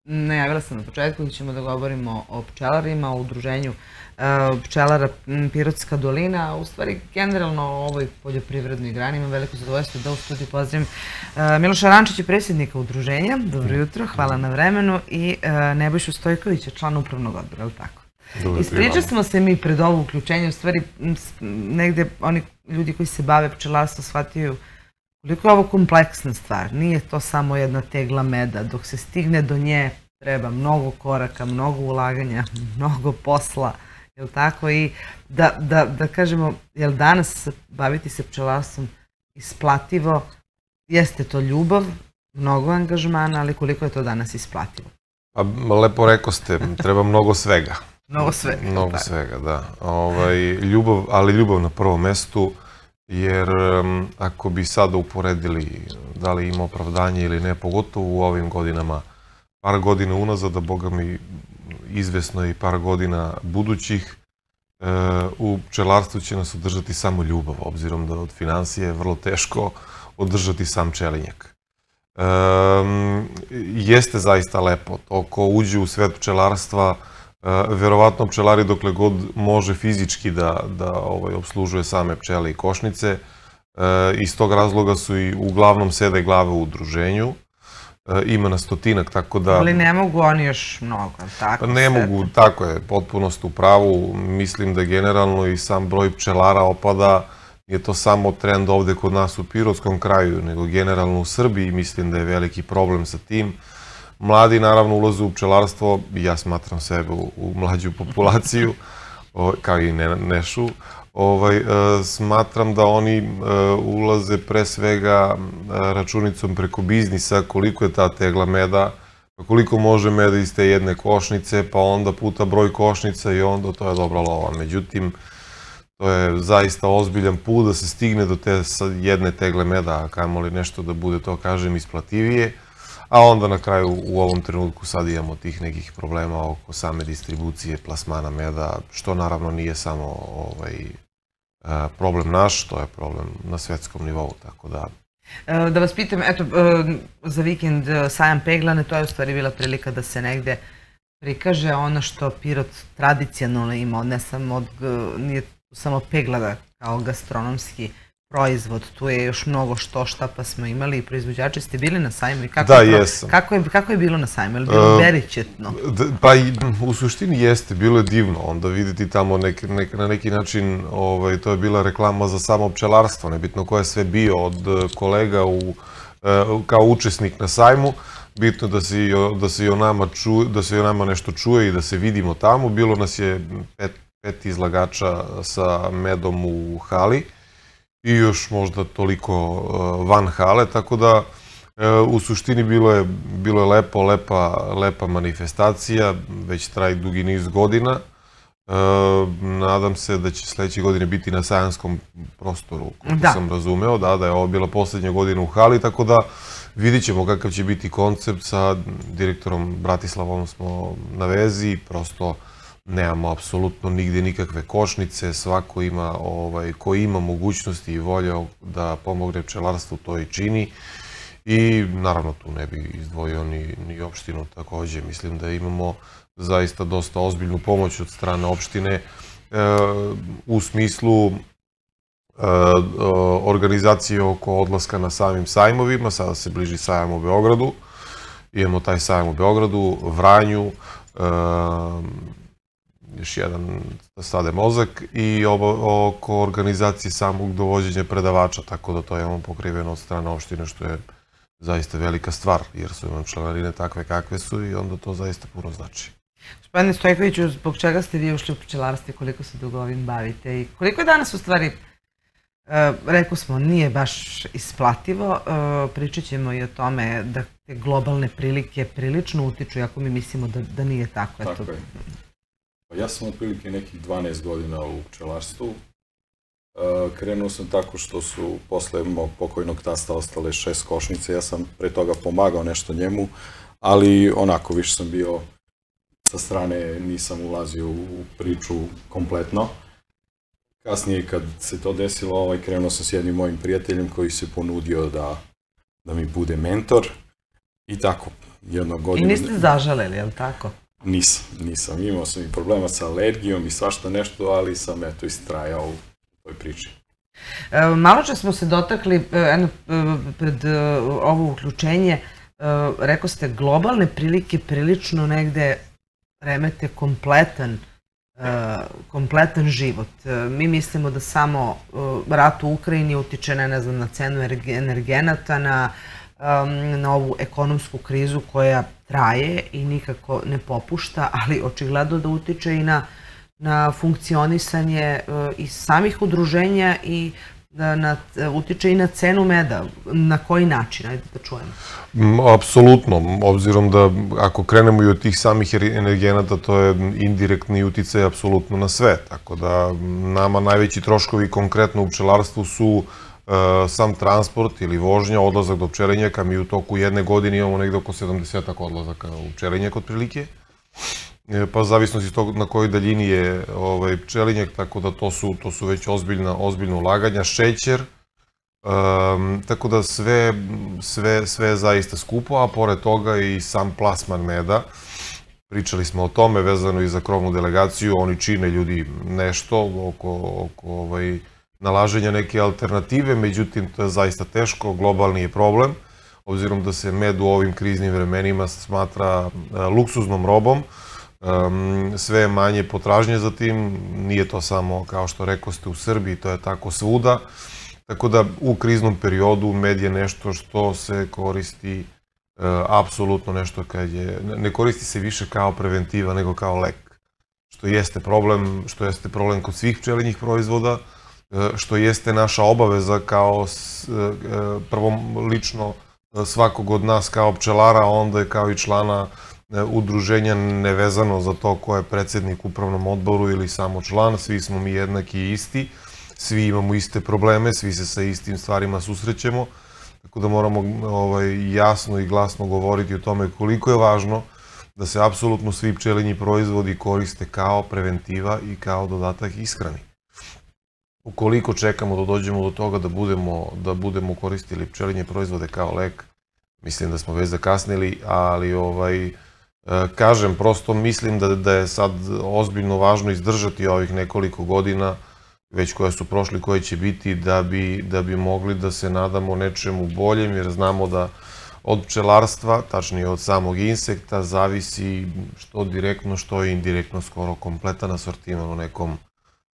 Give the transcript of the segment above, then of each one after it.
najavila sam na početku da ćemo da govorimo o pčelarima, o udruženju pčelara Pirotska dolina, u stvari generalno o ovoj poljoprivrednoj grani. Imam veliko zadovoljstvo da u studiju pozdravim Miloša Rančića, predsjednika udruženja. Dobro jutro, hvala na vremenu, i Nebojšu Stojkovića, člana upravnog odbora, je li tako? Ispričali smo se mi pred ovo uključenje, u stvari negde oni ljudi koji se bave pčelarstvom shvataju koliko je ovo kompleksna stvar. Nije to samo jedna tegla meda. Dok se stigne do nje treba mnogo koraka, mnogo ulaganja, mnogo posla, je li tako? I da kažemo, je li danas baviti se pčelarstvom isplativo? Jeste to ljubav, mnogo angažmana, ali koliko je to danas isplativo? Pa lepo rekao ste, treba mnogo svega. Mnogo svega. Mnogo svega, da. Ljubav, ali ljubav na prvom mestu, jer ako bi sada uporedili da li ima opravdanje ili ne, pogotovo u ovim godinama, par godina unazad, a boga mi izvesno i par godina budućih, u pčelarstvu će nas održati samo ljubav, obzirom da od financije je vrlo teško održati sam pčelinjak. Jeste zaista lepo. To ko uđe u svet pčelarstva, verovatno pčelari dokle god može fizički da obslužuje same pčele i košnice. Iz tog razloga su i uglavnom sede glave u udruženju. Ima na stotinak, tako da... Ali ne mogu oni još mnogo, tako? Ne mogu, tako je, potpuno ste u pravu. Mislim da generalno i sam broj pčelara opada. Je to samo trend ovde kod nas u Pirotskom kraju, nego generalno u Srbiji. Mislim da je veliki problem sa tim. Mladi naravno ulaze u pčelarstvo, ja smatram sebe u mlađu populaciju, kao i Nešu. Smatram da oni ulaze pre svega računicom preko biznisa, koliko je ta tegla meda, koliko može meda iz te jedne košnice, pa onda puta broj košnica i onda to je dobra lova. Međutim, to je zaista ozbiljan put da se stigne do te jedne tegle meda, a kamoli nešto da bude, to kažem, isplativije. A onda na kraju u ovom trenutku sad imamo tih nekih problema oko same distribucije plasmana meda, što naravno nije samo problem naš, to je problem na svetskom nivou, tako da... Da vas pitam, eto, za vikend sajam peglane, to je u stvari bila prilika da se negde prikaže ono što Pirot tradicionalno ima, nije samo peglada kao gastronomski proizvod, tu je još mnogo šta pa smo imali i proizvođači. Ste bili na sajmu? Da, jesam. Kako je bilo na sajmu? Je li bilo beričetno? Pa u suštini jeste, bilo je divno. Onda vidite tamo na neki način, to je bila reklama za samo pčelarstvo, nebitno ko je sve bio od kolega kao učesnik na sajmu. Bitno da se i o nama nešto čuje i da se vidimo tamo. Bilo nas je 5 izlagača sa medom u hali i još možda toliko van hale, tako da u suštini bilo je lepa manifestacija, već traje dugi niz godina. Nadam se da će sledeće godine biti na sajanskom prostoru, kako sam razumeo, da je ovo bila poslednja godina u hali, tako da vidit ćemo kakav će biti koncept. Sa direktorom Bratislavom smo na vezi, prosto nemamo apsolutno nigde nikakve košnice, svako ima, ko ima mogućnosti i volje da pomogne pčelarstvu, to i čini. I naravno tu ne bi izdvojio ni opštinu takođe. Mislim da imamo zaista dosta ozbiljnu pomoć od strane opštine u smislu organizacije oko odlaska na samim sajmovima. Sada se bliži sajam u Beogradu. Imamo taj sajam u Beogradu, Vranju, još jedan Stade Mozak i oko organizacije samog dovođenja predavača, tako da to imamo pokriveno od strane opštine, što je zaista velika stvar, jer su imam članarine takve kakve su i onda to zaista puno znači. Gospodine Stojkoviću, zbog čega ste vi ušli u pčelarstvo i koliko se dugo ovim bavite i koliko je danas u stvari, rekao smo, nije baš isplativo, pričat ćemo i o tome da te globalne prilike prilično utiču, ako mi mislimo da nije tako. Tako je. Ja sam otprilike nekih 12 godina u pčelarstvu. Krenuo sam tako što su posle mog pokojnog tasta ostale 6 košnice. Ja sam pre toga pomagao nešto njemu, ali onako više sam bio sa strane, nisam ulazio u priču kompletno. Kasnije kad se to desilo, krenuo sam s jednim mojim prijateljem koji se ponudio da mi bude mentor. I tako, jednog I godinu... niste zažaleli, je li tako? Nisam. Imao sam i problema sa alergijom i svašta nešto, ali sam eto istrajao u toj priči. Malo čas smo se dotakli, pred ovo uključenje, rekao ste, globalne prilike prilično negde remete kompletan život. Mi mislimo da samo rat u Ukrajini utiče na cenu energenata, na ovu ekonomsku krizu koja traje i nikako ne popušta, ali očigledno da utiče i na funkcionisanje i samih udruženja i utiče i na cenu meda. Na koji način? Ajde da čujemo. Apsolutno, obzirom da ako krenemo i od tih samih energenata, to je indirektni uticaj apsolutno na sve. Tako da nama najveći troškovi konkretno u pčelarstvu su sam transport ili vožnja, odlazak do pčelinjaka. Mi u toku jedne godine imamo negde oko 70 odlazaka u pčelinjak otprilike. Pa zavisnosti tog na kojoj daljini je pčelinjak, tako da to su već ozbiljna ulaganja. Šećer, tako da sve je zaista skupo, a pored toga i sam plasman meda. Pričali smo o tome vezano i za krovnu delegaciju, oni čine ljudi nešto oko nalaženja neke alternative, međutim to je zaista teško, globalni je problem, obzirom da se med u ovim kriznim vremenima smatra luksuznom robom. Sve je manje potražnje za tim, nije to samo kao što rekoste u Srbiji, to je tako svuda. Tako da u kriznom periodu med je nešto što se koristi apsolutno nešto ne koristi se više kao preventiva nego kao lek. Što jeste problem kod svih pčelinjih proizvoda, što jeste naša obaveza kao prvo lično svakog od nas kao pčelara, onda je kao i člana udruženja, nevezano za to ko je predsjednik u upravnom odboru ili samo član, svi smo mi jednaki i isti, svi imamo iste probleme, svi se sa istim stvarima susrećemo, tako da moramo jasno i glasno govoriti o tome koliko je važno da se apsolutno svi pčelinji proizvodi koriste kao preventiva i kao dodatak ishrani. Ukoliko čekamo da dođemo do toga da budemo koristili pčelinje proizvode kao lek, mislim da smo već zakasnili, ali kažem, prosto mislim da je sad ozbiljno važno izdržati ovih nekoliko godina, već koje su prošli, koje će biti, da bi mogli da se nadamo nečemu boljem, jer znamo da od pčelarstva, tačnije od samog insekta, zavisi što direktno, što i indirektno skoro kompletan asortiman u nekom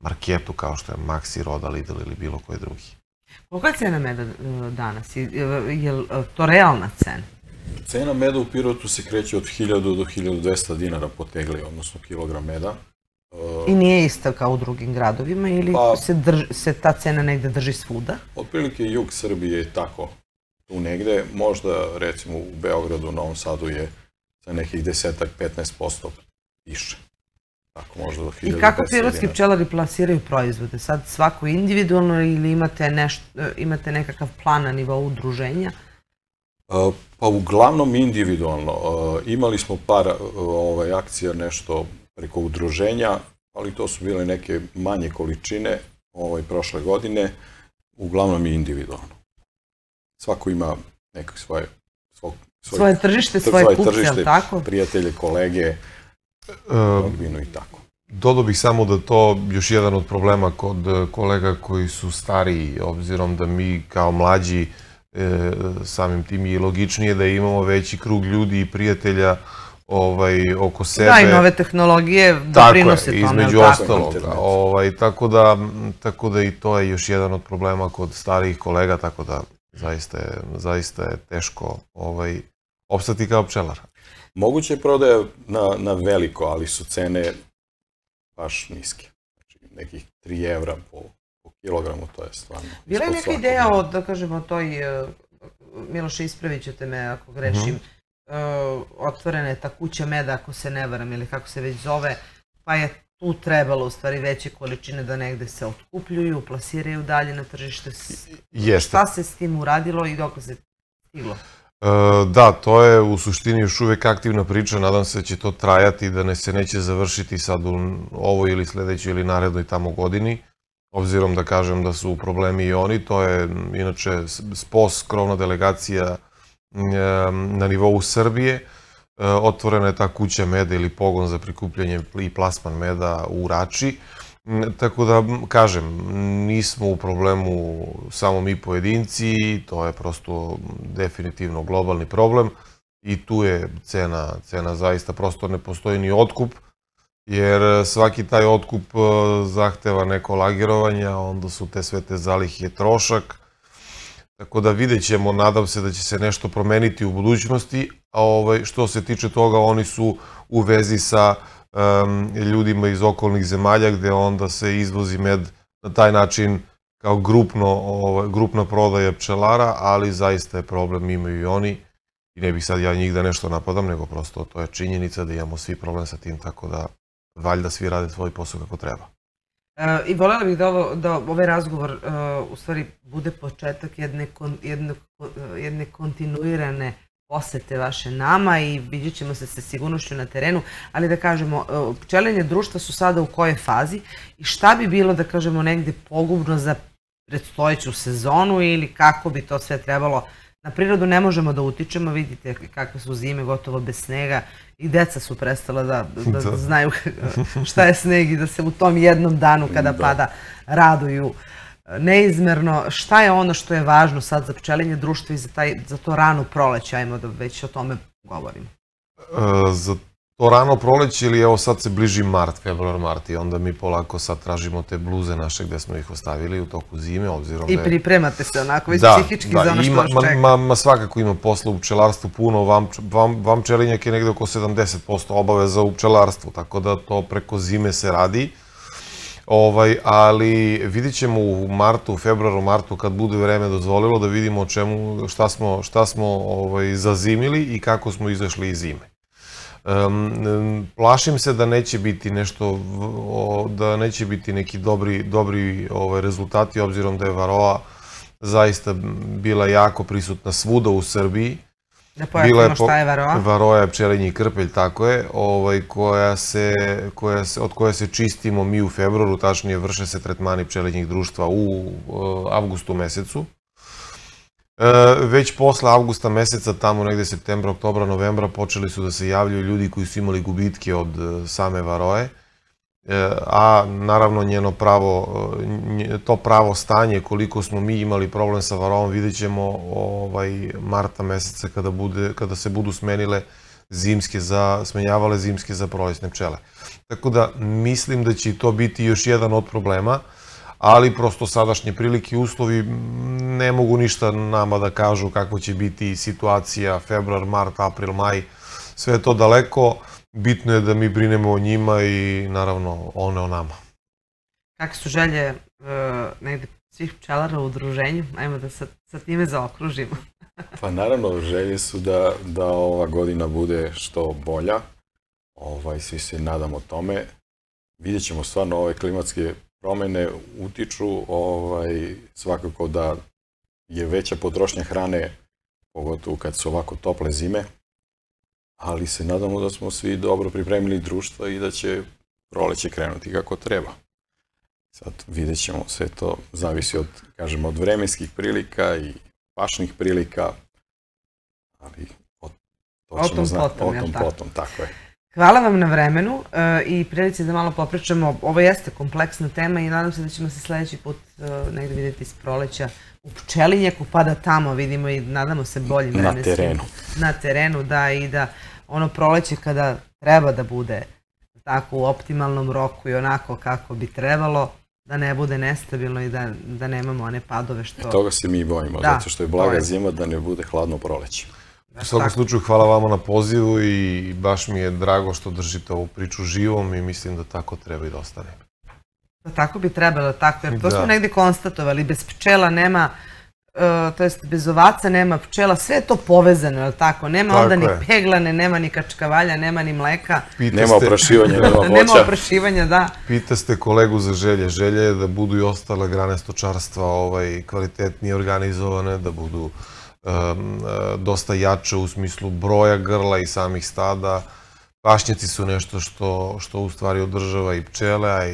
marketu kao što je Maxi, Roda, Lidl ili bilo koji drugi. Kolika je cena meda danas? Je li to realna cena? Cena meda u Pirotu se kreće od 1000 do 1200 dinara po tegli, odnosno kilogram meda. I nije ista kao u drugim gradovima ili se ta cena negde drži svuda? Otprilike jug Srbije je tako tu negde. Možda recimo u Beogradu, Novom Sadu je za nekih 10-15% više. I kako pirotski pčelari plasiraju proizvode? Sad svako individualno ili imate nekakav plan na nivou udruženja? Pa uglavnom individualno. Imali smo par akcija nešto preko udruženja, ali to su bile neke manje količine prošle godine. Uglavnom i individualno. Svako ima nekak svoje tržište, svoje kupce, ali tako? Prijatelje, kolege, rodbinu i tako. Dodao bih samo da to još jedan od problema kod kolega koji su stariji, obzirom da mi kao mlađi samim tim je logičnije da imamo veći krug ljudi i prijatelja oko sebe. Da, i nove tehnologije doprinose tome. Tako je, između ostalog. Tako da i to je još jedan od problema kod starijih kolega, tako da zaista je teško opstati kao pčelar. Moguće je prodaja na veliko, ali su cene baš niske. Znači, nekih 3 evra po kilogramu, to je stvarno. Bila je neka ideja o, da kažemo, toj, Miloše, ispravit ćete me ako grešim, otvorena je ta kuća meda, ako se ne varam, ili kako se već zove, pa je tu trebalo u stvari veće količine da negde se otkupljuju, plasiraju dalje na tržište. Šta se s tim uradilo i dok se stiglo? Da, to je u suštini još uvek aktivna priča, nadam se da će to trajati, da se neće završiti sad u ovoj ili sledećoj ili narednoj tamo godini, obzirom da kažem da su problemi i oni. To je inače SPOS, krovna delegacija na nivou Srbije, otvorena je ta kuća meda ili pogon za prikupljanje i plasman meda u Rači. Tako da, kažem, nismo u problemu samo mi pojedinci, to je prosto definitivno globalni problem i tu je cena zaista, prosto ne postoji ni otkup, jer svaki taj otkup zahteva neko lagerovanje, a onda su sve te zalihe trošak. Tako da vidjet ćemo, nadam se da će se nešto promeniti u budućnosti, a što se tiče toga, oni su u vezi sa ljudima iz okolnih zemalja, gde onda se izvozi med na taj način kao grupna prodaja pčelara, ali zaista je problem, imaju i oni. I ne bih sad ja njih da nešto napadam, nego prosto to je činjenica da imamo svi problem sa tim, tako da valjda svi rade svoj posao kako treba. I voljela bih da ovaj razgovor u stvari bude početak jedne kontinuirane posete vaše nama i vidjet ćemo se sa sigurnošću na terenu, ali da kažemo, pčelinje društva su sada u kojoj fazi i šta bi bilo, da kažemo, negde pogubno za predstojeću sezonu ili kako bi to sve trebalo. Na prirodu ne možemo da utičemo, vidite kakve su zime, gotovo bez snega i deca su prestala da znaju šta je sneg i da se u tom jednom danu kada pada raduju neizmerno. Šta je ono što je važno sad za pčelinje društvo i za to rano proleće, ajmo da već o tome govorimo? Za to rano proleće ili evo sad se bliži mart, februar, mart i onda mi polako sad tražimo te bluze naše gde smo ih ostavili u toku zime, obzirom da je... I pripremate se onako već psihički za ono što vas čeka. Ma svakako ima posla u pčelarstvu puno, vam pčelinjak je negde oko 70% obaveza u pčelarstvu, tako da to preko zime se radi. Ali vidit ćemo u martu, februaru, martu, kad bude vreme dozvolilo, da vidimo šta smo zazimili i kako smo izašli iz zime. Plašim se da neće biti neki dobri rezultati, obzirom da je varoa zaista bila jako prisutna svuda u Srbiji. Da pojasnimo šta je varoa? Varoa je pčelinji krpelj, tako je, od koje se čistimo mi u februaru, tačnije vrše se tretmani pčelinjih društva u avgustu mesecu. Već posle avgusta meseca, tamo negde septembra, oktobra, novembra, počeli su da se javljaju ljudi koji su imali gubitke od same varoje, a naravno to pravo stanje, koliko smo mi imali problem sa varovom, vidjet ćemo marta meseca kada se budu smenjavale zimske za prolećne pčele. Tako da mislim da će i to biti još jedan od problema, ali prosto sadašnje prilike i uslovi ne mogu ništa nama da kažu kako će biti situacija februar, mart, april, maj, sve je to daleko. Bitno je da mi brinemo o njima i naravno one o nama. Kakve su želje negde svih pčelara u udruženju? Ajmo da sa time zaokružimo. Pa naravno, želje su da ova godina bude što bolja. Svi se nadamo tome. Vidjet ćemo stvarno ove klimatske promene utiču, svakako da je veća potrošnja hrane, pogotovo kad su ovako tople zime, ali se nadamo da smo svi dobro pripremili društva i da će proleće krenuti kako treba. Sad vidjet ćemo, sve to zavisi od vremenskih prilika i pašnih prilika, ali to ćemo znati o tom potom, tako je. Hvala vam na vremenu i prilici da malo popričamo. Ovo jeste kompleksna tema i nadam se da ćemo se sledeći put negde vidjeti iz proleća u pčelinjaku, pa da tamo vidimo i nadamo se boljim vremenskim. Na terenu, da, i da ono proleće kada treba da bude tako u optimalnom roku i onako kako bi trebalo, da ne bude nestabilno i da nemamo one padove što... Toga se mi bojimo, zato što je blaga zima, da ne bude hladno proleće. U svakom slučaju, hvala vama na pozivu i baš mi je drago što držite ovu priču živom i mislim da tako treba i da ostane. Da tako bi trebalo, tako, jer to smo negde konstatovali, bez pčela nema, to jest bez ovaca nema pčela, sve je to povezano, je li tako? Nema onda ni peglane, nema ni kačkavalja, nema ni mleka. Nema oprašivanja, nema voća. Nema oprašivanja, da. Pitaste kolegu za želje. Želje je da budu i ostale grane stočarstva kvalitetnije organizovane, da budu dosta jače u smislu broja grla i samih stada. Pašnjaci su nešto što u stvari održava i pčele, a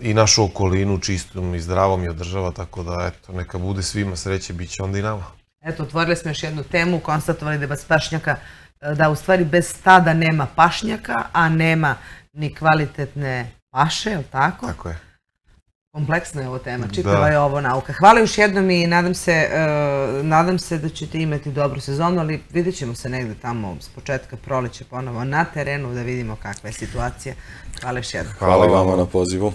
i našu okolinu čistom i zdravom i održava, tako da eto, neka bude svima sreće, bit će onda i nama. Eto, otvorili smo još jednu temu, konstatovali da bez pašnjaka, da u stvari bez stada nema pašnjaka, a nema ni kvalitetne paše, je li tako? Tako je. Kompleksna je ovo tema, čitava je ovo nauka. Hvala još jednom i nadam se da ćete imati dobru sezonu, ali vidjet ćemo se negde tamo s početka proleća ponovo na terenu da vidimo kakva je situacija. Hvala još jednom. Hvala vama na pozivu.